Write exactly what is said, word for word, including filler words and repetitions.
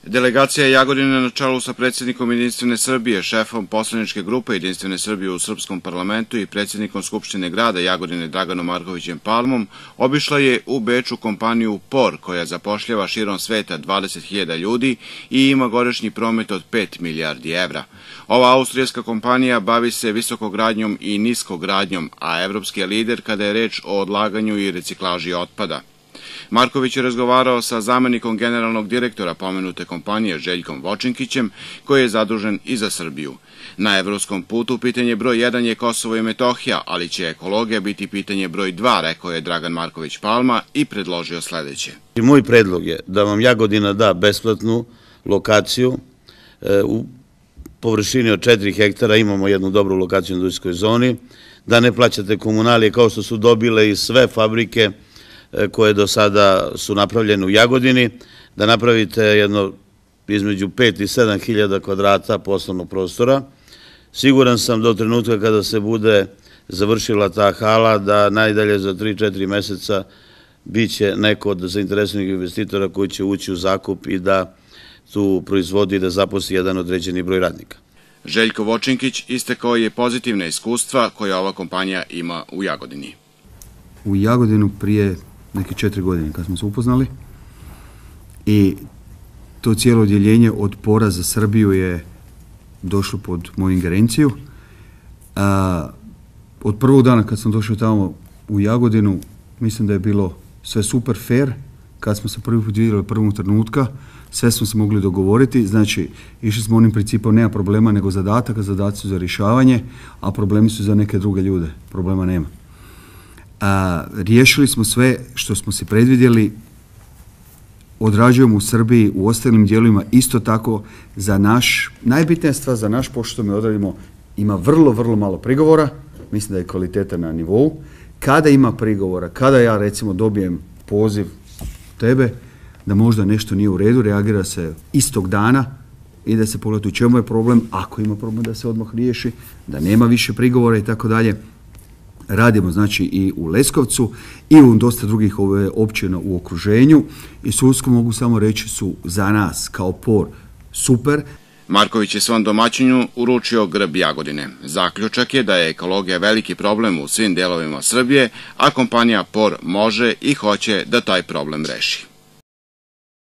Delegacija Jagodine na čelu sa predsjednikom Jedinstvene Srbije, šefom poslaničke grupe Jedinstvene Srbije u Srpskom parlamentu i predsjednikom Skupštine grada Jagodine Draganom Markovićem Palmom obišla je u Beču kompaniju P O R, koja zapošljava širom sveta dvadeset hiljada ljudi i ima godišnji promet od pet milijardi evra. Ova austrijska kompanija bavi se visokogradnjom i niskogradnjom, a evropski je lider kada je reč o odlaganju i reciklaži otpada. Marković je razgovarao sa zamenikom generalnog direktora pomenute kompanije Željkom Vočinkićem, koji je zadužen i za Srbiju. Na evropskom putu pitanje broj jedan je Kosovo i Metohija, ali će ekologija biti pitanje broj dva, rekao je Dragan Marković Palma i predložio sledeće. Moj predlog je da vam Jagodina da besplatnu lokaciju u površini od četiri hektara, imamo jednu dobru lokaciju u industrijskoj zoni, da ne plaćate komunalije kao što su dobile i sve fabrike koje do sada su napravljene u Jagodini, da napravite jedno između pet i sedam hiljada kvadrata poslovnog prostora. Siguran sam do trenutka kada se bude završila ta hala da najdalje za tri do četiri meseca biće neko od zainteresovanih investitora koji će ući u zakup i da tu proizvodi i da zaposli jedan određeni broj radnika. Željko Vočinkić istakao je pozitivna iskustva koja ova kompanija ima u Jagodini. U Jagodinu prije neke četiri godine kad smo se upoznali i to cijelo odjeljenje od P O R-a za Srbiju je došlo pod moju ingerenciju. A, od prvog dana kad sam došao tamo u Jagodinu, mislim da je bilo sve super fair. Kad smo se prvi put vidjeli od prvog trenutka, sve smo se mogli dogovoriti. Znači, išli smo onim principom, nema problema nego zadataka, zadaci su za rješavanje, a problemi su za neke druge ljude. Problema nema. A, riješili smo sve što smo se predvidjeli, odrađujemo u Srbiji, u ostalim dijelovima isto tako. Za naš, najbitnija stvar za naš pošto mi odradimo, ima vrlo, vrlo malo prigovora, mislim da je kvaliteta na nivou. Kada ima prigovora, kada ja recimo dobijem poziv tebe da možda nešto nije u redu, reagira se istog dana i da se pogleda u čemu je problem, ako ima problem da se odmah riješi, da nema više prigovora i tako dalje. Radimo znači i u Leskovcu i u dosta drugih ove općina u okruženju i sudsko mogu samo reći su za nas kao P O R super. Marković je svom domaćinu uručio grb Jagodine. Zaključak je da je ekologija veliki problem u svim delovima Srbije, a kompanija P O R može i hoće da taj problem reši.